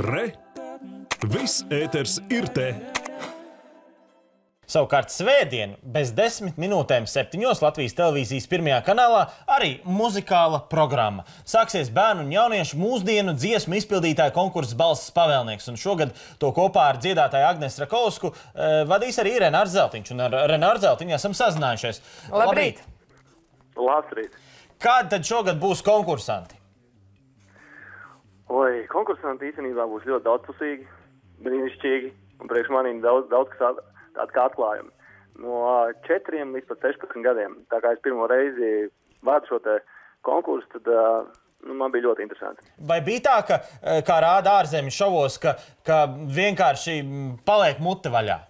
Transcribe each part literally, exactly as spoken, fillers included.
Re! Viss ēters ir te! Savukārt svētdien, bez desmit minūtēm septiņos Latvijas televīzijas pirmajā kanālā arī muzikāla programma. Sāksies bērnu un jauniešu mūsdienu dziesmu izpildītāju konkurss Balss pavēlnieks. Un šogad to kopā ar dziedātāju Agnesu Rakovsku eh, vadīs arī Renārs Zeltiņš. Un ar Renāru Zeltiņu esam sazinājušies. Labrīt! Labrīt! Kādi tad šogad būs konkursanti? Oi, konkursanti īstenībā būs ļoti daudzpusīgi, brīnišķīgi. Un priekš manīm daudz, daudz kas tāda kā atklājumi. No četriem līdz pat sešpadsmit gadiem. Tā kā es pirmo reizi vādu šo te konkursu, tad nu, man bija ļoti interesanti. Vai bija tā, ka, kā rāda ārzemju šovos, ka, ka vienkārši paliek mute vaļā?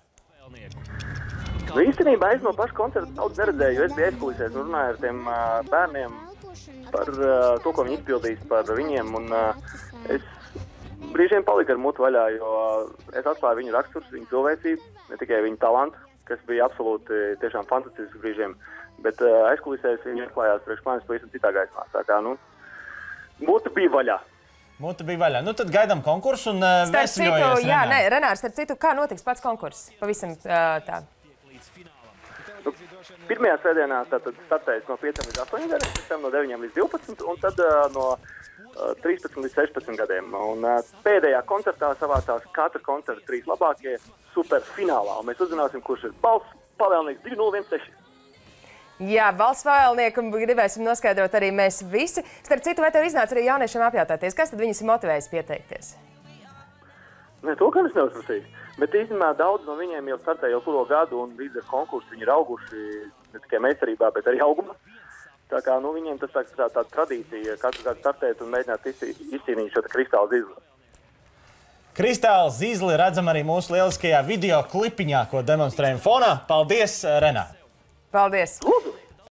Nu, īstenībā es no paša koncerta daudz neredzēju, jo es biju aizkulisēs un runāju ar tiem uh, bērniem par uh, to, ko viņi izpildīs par viņiem. Un, uh, es brīžiem paliku ar mutu vaļā, jo uh, es atklāju viņu raksturs, viņu cilvēcību, ne tikai viņu talantu, kas bija absolūti tiešām fantastisks brīžiem, bet uh, aizkulisēs viņi atklājās priekš manis pavisam citā gaismā. Tā kā, nu, mutu bija vaļā. Mutu bija vaļā. Nu, tad gaidām konkursu un uh, vēsļojies, jā, nē, Renārs, starp citu, kā notiks pats konkurss? Pavisam uh, tā. Nu, pirmajā svētdienā tātad startējas no pieciem līdz astoņiem gadiem, pēc tam no deviņiem līdz divpadsmit un tad uh, no uh, trīspadsmit līdz sešpadsmit gadiem. Un uh, pēdējā koncertā savācās katra koncerta trīs labākie superfinālā. Un mēs uzzināsim, kurš ir Balss pavēlnieks divi nulle viens seši. Jā, Balss pavēlnieku gribēsim noskaidrot arī mēs visi. Starp citu, vai tev iznāca arī jauniešiem apjautāties, kas tad viņus ir motivējis pieteikties? Ne, to gan es neuzprasīju. Bet īstenībā daudz no viņiem jau startē jau kuro gadu, un līdz ar konkursu viņi ir auguši ne tikai meistarībā, bet arī augumā. Tā kā nu, viņiem tas tā, tā, tā tradīcija katru gadu startēt un mēģināt izcīnīt šo kristāla zizli. Kristāla zizli redzam arī mūsu lieliskajā video klipiņā, ko demonstrējam fonā. Paldies, Renā! Paldies! Lūdzu!